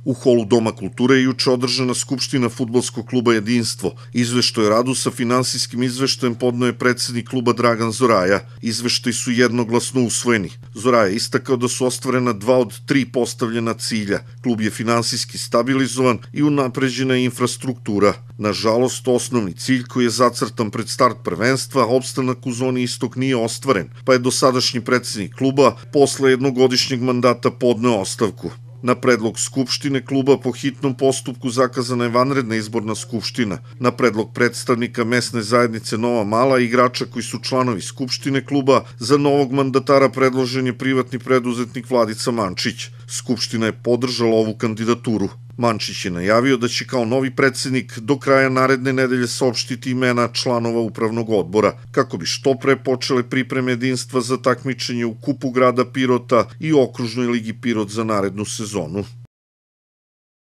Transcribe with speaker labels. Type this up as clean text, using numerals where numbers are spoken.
Speaker 1: U holu Doma kulture je juče održana skupština fudbalskog kluba Jedinstvo. Izveštaj o radu sa finansijskim izveštajem podneo je predsednik kluba Dragan Zoraja. Izveštaj su jednoglasno usvojeni. Zoraja je istakao da su ostvarena 2 od 3 postavljena cilja. Klub je finansijski stabilizovan i unapređena je infrastruktura. Nažalost, osnovni cilj koji je zacrtan pred start prvenstva, opstanak u zoni istok, nije ostvaren, pa je dosadašnji predsednik kluba posle jednogodišnjeg mandata podneo ostavku. Na predlog Skupštine kluba po hitnom postupku zakazana je vanredna izborna skupština. Na predlog predstavnika mesne zajednice Nova Mala i igrača koji su članovi Skupštine kluba, za novog mandatara predložen je privatni preduzetnik Vladica Mančić. Skupština je podržala ovu kandidaturu. Mančić je najavio da će kao novi predsednik do kraja naredne nedelje saopštiti imena članova upravnog odbora, kako bi što pre počele pripreme Jedinstva za takmičenje u Kupu grada Pirota i Okružnoj ligi Pirot za narednu sezonu.